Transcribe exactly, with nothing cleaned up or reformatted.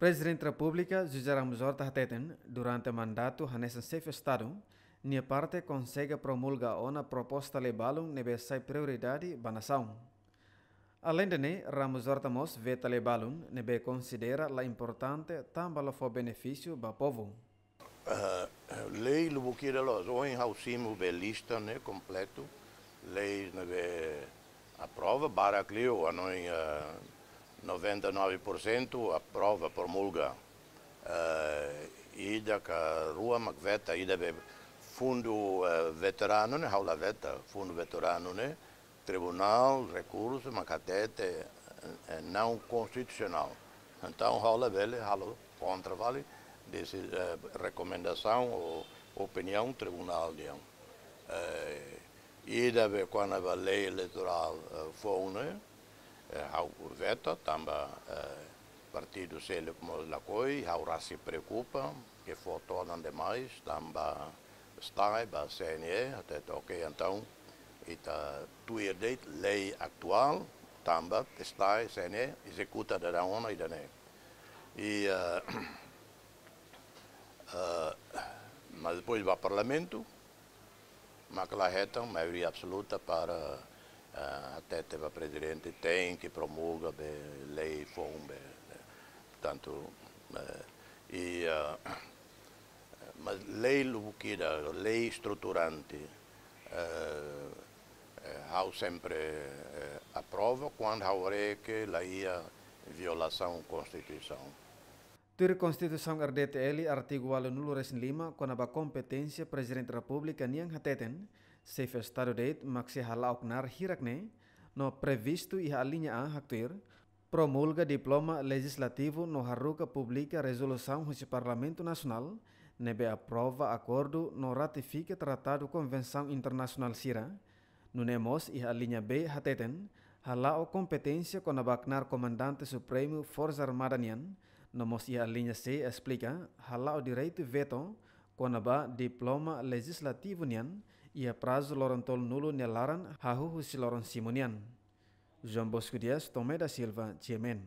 Prezidente Repúblika José Ramos Horta hateten, durante mandatu hanesan Xefe Estadu, nia parte konsege promulga ona proposta lei balun ne'ebé sai prioridade ba nasaun. Alende ne'e, Ramos Horta mós veta lei balun ne'ebé konsidera la importante tanba la fó benefísiu ba povu. Eh, lei lubukida loos, ohin ha'u simu be lista ne'e kompletu, lei ne'ebé aprova, barak liu, hanoin, eh, noventa e nove por cento aprova, promulga. Eh, ida ka rua mak veta, ida be fundu, eh, veteranu ne'e, ha'u la veta, fundu veteranu ne'e, tribunál rekursu mak hatete, eh, não constitucional. Entaun, ha'u labele halo kontra fali desi, eh, rekomendasaun ou opiniaun tribunál nian. Eh, ida be kona-ba lei eleitorál, eh, foun ne'e, eh, ha'u veta tanba, eh, partidu seluk mós lakohi, ha'u rasik preokupa, ke fó todan demais, tanba STAE ba CNE, hatete, ok, entaun, ita tuir de'it lei atuál, tanba STAE, CNE ezekuta daudaun ona ida-ne'e. I, eh, eh, mas depois ba Parlamentu, mak la hetan maioria absoluta para, eh, hatete ba Prezidente tenke promulga be lei foun be, eh, tantu, eh, i, eh, mas lei lubukida, lei estruturante, eh, eh, ha'u sempre, eh, aprova kuandu ha'u haree ke la iha violasaun Konstituisaun. Tuir Konstituisaun RDTL, artigu ualunulu-resin-lima, kona-ba kompeténsia Prezidente Repúblika nian hateten, Xefe Estadu de'it mak sei hala'o knaar hirak-ne'e, no previstu iha alínea A haktuir, promulga diploma lejizlativu no haruka publika rezolusaun husi Parlamentu Nasionál, ne'ebé aprova akordu no ratifika tratadu konvensaun internasionál sira, nune'e mós iha alínea B hateten, hala'o kompeténsia kona-ba knaar Komandante Supremu Forsa Armada nian, no mós iha alínea C esplika, hala'o direitu veto kona-ba diploma lejizlativu nian, iha prazu loron tolunulu nia laran hahú husi loron simu nian. João Bosco Dias, Tomé da Silva, GMN.